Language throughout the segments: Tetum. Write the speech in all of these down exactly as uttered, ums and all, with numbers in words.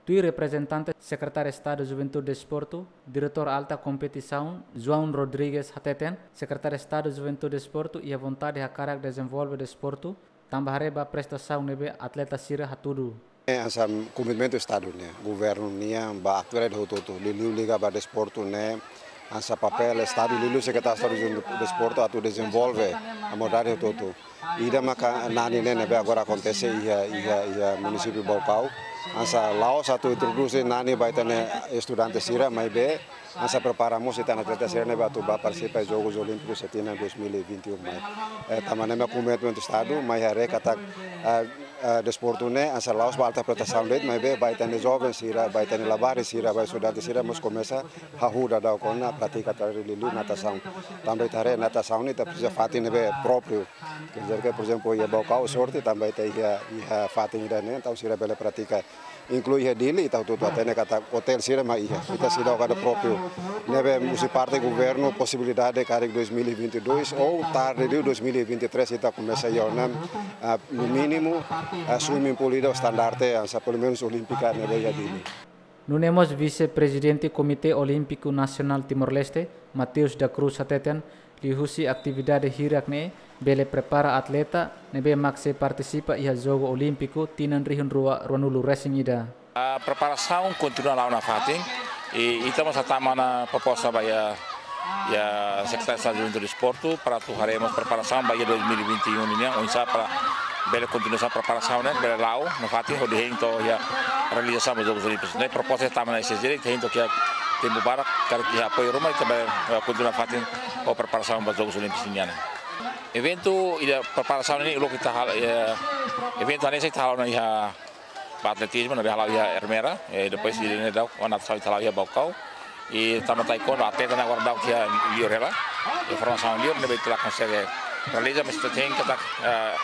Tuir reprezentante Sekretáriu Estadu Juventude Desportu, Diretór Alta Kompetisaun, João Rodrigues hateten, Sekretáriu Estadu Juventude Desportu iha vontade hakarak dezenvolve desportu, tanba haree ba prestasaun ne'ebé atleta sira hatudu. Hanesan komitmentu Estadu nian, governu nian ba atividade hotu-hotu, liuliu liga ba desportu ne'e, hanesan papél Estadu, liuliu Sekretáriu Estadu Juventude Desportu atu dezenvolve modalidade hotu-hotu. Ida maka nani ne'e ne'ebé agora akontese iha, iha, iha munisípiu Baucau. Hanesan la'ós atu introdús nani ba ita-nia estudante sira, maibé hanesan prepara mós ita-nia atleta sira ne'ebé atu bá partisipa Jogus Olímpikus iha tinan dois mil e vinte e um mai. Eh, tanba ne'e mak komitmentu Estadu, mai haree katak, eh, eh, desportu ne'e hanesan la'ós ba alta prestasaun de'it, maibé ba ita-nia joven sira, ba ita-nia labarik sira, ba estudante sira mós komesa hahú daudaun ona pratika atu liuliu natasaun. Tanba ita haree natasaun ne'e ita presiza fatin ne'ebé própriu. Quer dizer que, por exemplo, iha Baucau sorte tanba ita iha, iha fatin ida-ne'e, entaun sira bele pratika. Inklui iha Dili, ita hotu-hotu hatene katak hotel sira mak iha. Ita seidauk iha própriu. Ne'ebé husi parte governu posibilidade karik dois mil e vinte e dois ou tarde liu dois mil e vinte e três ita komesa iha ona, ah, no mínimu, ah, swimming pool ida standarte, hanesan pelumenus olímpika ne'ebé iha Dili. Nune'e mós Vise-Prezidente Komité Olímpiku Nasionál Timor-Leste, Mateus da Cruz hateten, liuhusi atividade hirak ne'e bele prepara atleta ne'ebé mak sei partisipa iha Jogu Olímpiku tinan rihun rua ruanulu resin ida. Ah, preparasaun kontinua la'o nafatin. I, ita mós hatama ona proposta ba iha, iha Sekretáriu Estadu Juventude Desportu para atu haree mós preparasaun ba iha dois mil e vinte e um nian, oinsá para bele kontinua preparasaun ne'e, bele la'o nafatin hodi hein to'o iha realizasaun ba Jogus Olímpikus. Ne'e proposta ita hatama ona S J D, ita hein to'o iha tempu badak, karik iha apoiu ruma, ita bele, eh, kontinua nafatin ho preparasaun ba Jogus Olímpikus nian. Eventu ida preparasaun ne'e uluk ita hal-, eh, eventu hanesan ita hala'o ona iha ba atletizmu, ne'ebé hala'o iha Ermera, eh, depois ida-ne'e daudauk, ona natasaun ita hala'o iha Baucau. I tanba taekwondo, atleta ne'e agora daudauk iha liur hela, iha formasaun liur, ne'ebé ita la konsege realiza, mas ita hein katak, eh,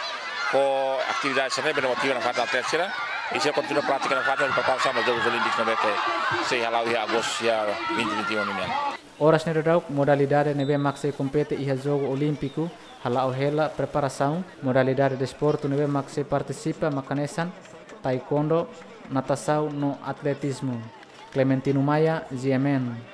ho atividade sira-ne'e bele motiva nafatin atleta sira, i sira kontinua pratika nafatin, preparasaun ba Jogus Olímpikus ne'ebé ke sei hala'o iha Agostu iha vinte vinte e um nian. Oras ne'e daudauk modalidade ne'ebé mak sei kompete iha Jogu Olímpiku hala'o hela preparasaun, modalidade desportu ne'ebé mak sei partisipa mak hanesan taekwondo, natasaun no atletizmu. Clementino Maia, G M N.